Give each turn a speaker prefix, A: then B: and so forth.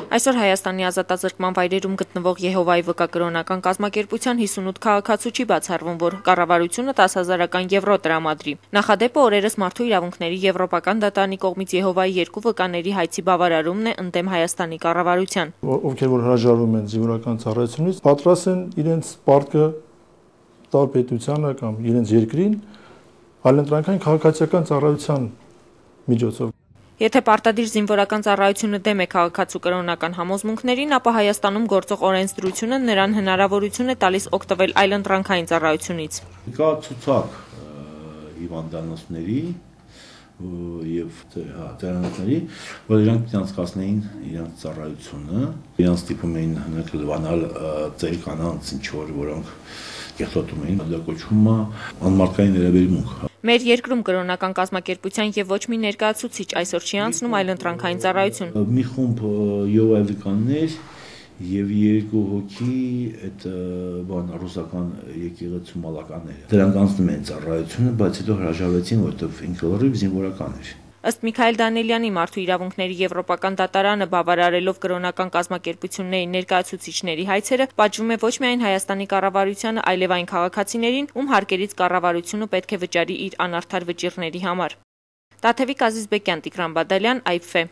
A: Այսօր Հայաստանի ազատազրկման վայրերում գտնվող Եհովայի վկա կրոնական կազմակերպության 58 քաղաքացու չի բացառվում, որ կառավարությունը 10,000 եվրո տրամադրի։ Նախադեպը օրերս Մարդու իրավունքների Եվրոպական դատարանի կողմից Եհովայի 2 վկաների հայցի բավարարումն է ընդդեմ Հայաստանի կառավարության։
B: Ովքեր որ հրաժարվում են զինվորական ծառայությունից, պատրաստ են իրենց պարտքը տալ պետությանը կամ իրենց երկրին այլընտրանքային քաղաքացիական ծառայության միջոցով։
A: Եթե պարտադիր զինվորական ծառայությունը դեմ է քաղաքացու կրոնական համոզմունքներին, ապա Հայաստանում գործող օրենսդրությունը նրան հնարավորություն է տալիս օգտվել այլընտրանքային ծառայությունից։
C: Կա ցուցակ հիվանդանոցների եւ ծառայությունների, որ իրանք անցկացնեին իրենց ծառայությունը, իրանք ստիպում էին լվանալ ծեր կանանց ինչ որ որոնք կեղտոտում էին, դա կոչվում է անմարդկային վերաբերմունք։
A: Մեր երկրում կրոնական կազմակերպության եւ ոչ մի ներկայացուցիչ այսօր չի անցնում այլընտրանքային ծառայություն։
C: Մի խումբ յովայվկաններ եւ 2 հոգի այդ ռուսական եկեղեցու մալականները։ Դրանք անցնում են ծառայությունը, բայց հետո հրաժարվեցին, որովհետեւ ինքնորոշ զինվորական էր։
A: Ըստ Միքայել Դանիելյանի Մարդու իրավունքների Եվրոպական դատարանը բավարարելով կրոնական կազմակերպությունների ներկայացուցիչների հայցերը, պատժվում է ոչ միայն Հայաստանի կառավարությանը, այլև այն քաղաքացիներին, ում հարկերից կառավարությունը պետք է վճարի իր անարդար վճիռների համար։ Տաթևիկ Ազիզբեկյան, Տիգրան Բադալյան, IFE